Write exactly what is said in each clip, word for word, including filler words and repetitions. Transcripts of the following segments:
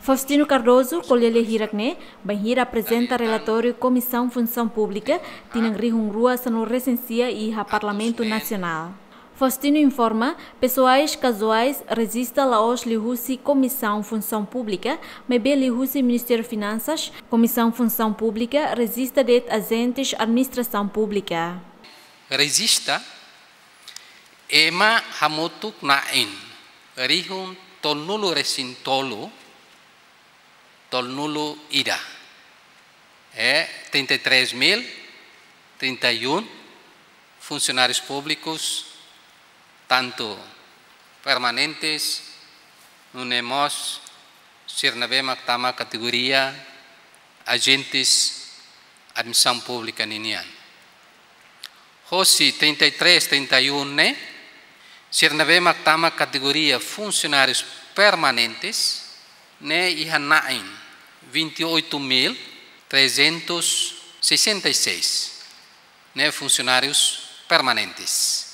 Faustino Cardoso ko'alia lia hirak ne'e bainhira aprezenta relatóriu Komisaun Funsaun Públika tinan rihun rua sanulu resin sia iha Parlamentu Nasionál. Faustino informa, pesoais kazuais rejista la'ós liuhusi Komisaun Funsaun Públika, maibé liuhusi Ministériu Finansas, Komisaun Funsaun Públika rejista de'it ajentes administrasaun públika. Rejista ema hamutuk na'in rihun tolunulu resin tolu, tolunulu ida. É trinta e três mil trinta e um funcionários públicos, tanto permanentes, nune'e mós sira ne'ebé mak tama kategoria ajentes administrasaun públika ninian. Hosi trinta e três, trinta e um ne'e, sira ne'ebé mak tama kategoria funcionários permanentes ne'e iha na'in vinte e oito mil trezentos sessenta e seis ne'e funcionários permanentes.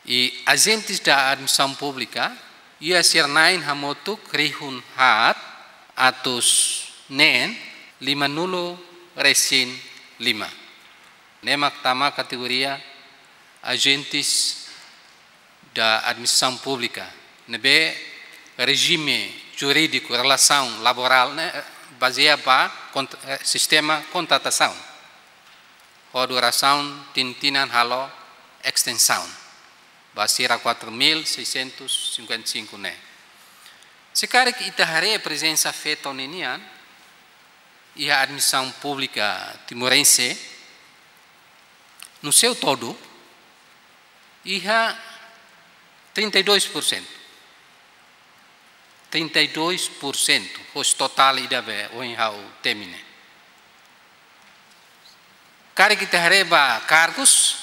I ajentes da administrasaun públika iha sira na'in hamutuk rihun haat atus neen limanulu resin lima. Ne'e mak tama kategoria ajentes da administrasaun públika, ne'ebé rejime jurídiku relasaun laborál ne'e bazeia ba kont-, eh, sistema kontratasaun. Ho durasaun tinan-tinan halo estensaun ba sira quatro mil seiscentos cinquenta e cinco ne'e. Se karik ita haree prezensa feto ninian iha administrasaun públika timorense, no seu todo, iha trinta e dois por cento. Trinta e dois por cento, hosi totál ida be ohin ha'u temi ne'e. Karik ita haree ba kargus,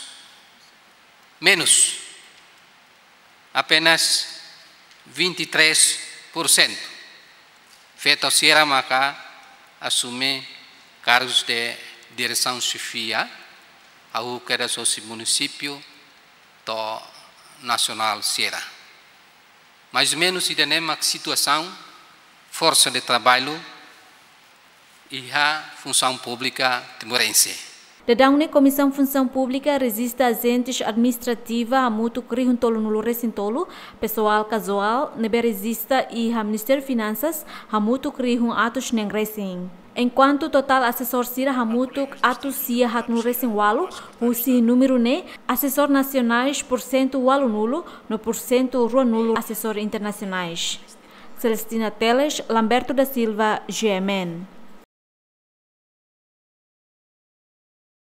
menus, apenas vinte e três por cento. Feto sira maka asume kargus de diresaun xefia, hahú kedas hosi munisípiu to'o nasionál sira. Mais ou menus ida-ne'e mak situasaun forsa de traballu iha funsaun públika timorense. Daudaun ne'e Komisaun Funsaun Públika rejista ajentes administrativa hamutuk rihun tolunulu resin tolu, pesoál kazuál ne'ebé rejista iha Ministériu Finansas hamutuk rihun atus neen resin. Enkuantu totál asesór sira hamutuk atus sia haatnulu resin ualu, husi númeru ne'e, asesór nasionais porsentu ualunulu, no porsentu ruanulu asesór internasionais. Celestina Teles, Lamberto da Silva, G M N.